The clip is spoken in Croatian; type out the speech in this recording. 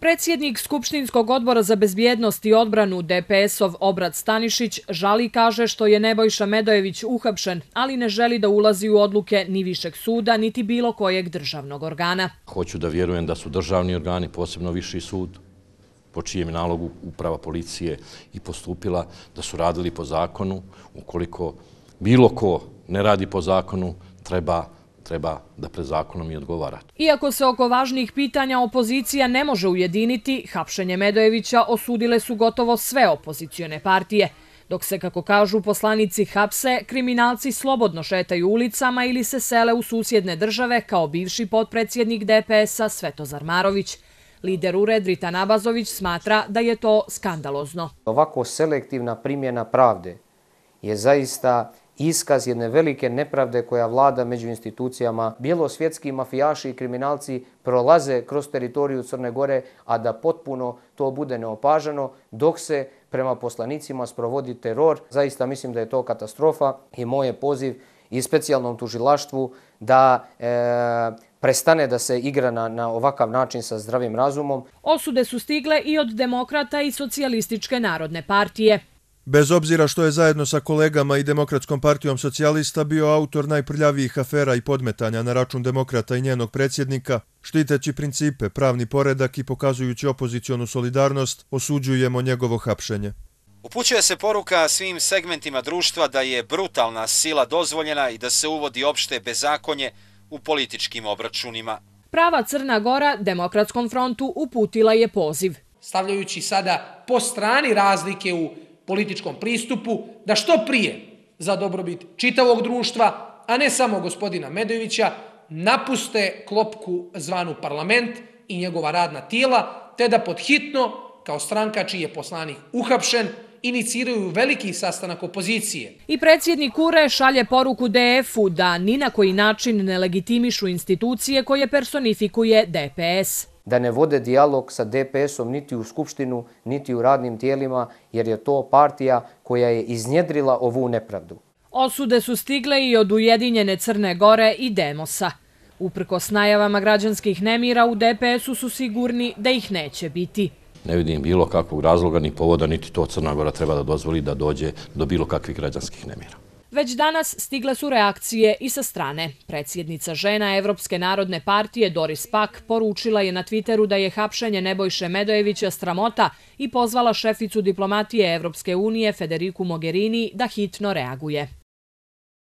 Predsjednik Skupštinskog odbora za bezbjednost i odbranu DPS-ov Obrad Stanišić žali, kaže, što je Nebojša Medojević uhapšen, ali ne želi da ulazi u odluke ni Višeg suda, niti bilo kojeg državnog organa. Hoću da vjerujem da su državni organi, posebno Viši sud, po čijem nalogu uprava policije i postupila, da su radili po zakonu. Ukoliko bilo ko ne radi po zakonu, treba da pred zakonom i odgovara. Iako se oko važnih pitanja opozicija ne može ujediniti, hapšenje Medojevića osudile su gotovo sve opozicione partije. Dok se, kako kažu poslanici, hapse, kriminalci slobodno šetaju ulicama ili se sele u susjedne države, kao bivši potpredsjednik DPS-a Svetozar Marović. Lider URE Dritan Abazović smatra da je to skandalozno. Ovako selektivna primjena pravde je zaista iskaz jedne velike nepravde koja vlada među institucijama. Bjelosvjetski mafijaši i kriminalci prolaze kroz teritoriju Crne Gore, a da potpuno to bude neopažano, dok se prema poslanicima sprovodi teror. Zaista mislim da je to katastrofa i moj je poziv i specijalnom tužilaštvu da prestane da se igra na ovakav način sa zdravim razumom. Osude su stigle i od Demokrata i Socijalističke narodne partije. Bez obzira što je zajedno sa kolegama i Demokratskom partijom socijalista bio autor najprljavijih afera i podmetanja na račun Demokrata i njenog predsjednika, štiteći principe, pravni poredak i pokazujući opozicionu solidarnost, osuđujemo njegovo hapšenje. Upućuje se poruka svim segmentima društva da je brutalna sila dozvoljena i da se uvodi opšte bezakonje u političkim obračunima. Prava Crna Gora Demokratskom frontu uputila je poziv. Stavljajući sada po strani razlike u političkom pristupu, da što prije za dobrobit čitavog društva, a ne samo gospodina Medojevića, napuste klopku zvanu parlament i njegova radna tijela, te da podhitno, kao stranka čiji je poslanik uhapšen, iniciraju veliki sastanak opozicije. I predsjednik URE šalje poruku DF-u da ni na koji način ne legitimišu institucije koje personifikuje DPS. Da ne vode dijalog sa DPS-om niti u Skupštinu, niti u radnim tijelima, jer je to partija koja je iznjedrila ovu nepravdu. Osude su stigle i od Ujedinjene Crne Gore i Demosa. Uprkos najavama građanskih nemira, u DPS-u su sigurni da ih neće biti. Ne vidim bilo kakvog razloga ni povoda, niti to Crna Gora treba da dozvoli da dođe do bilo kakvih građanskih nemira. Već danas stigle su reakcije i sa strane. Predsjednica žena Evropske narodne partije Doris Pack poručila je na Twitteru da je hapšenje Nebojše Medojevića sramota i pozvala šeficu diplomatije Evropske unije Federiku Mogherini da hitno reaguje.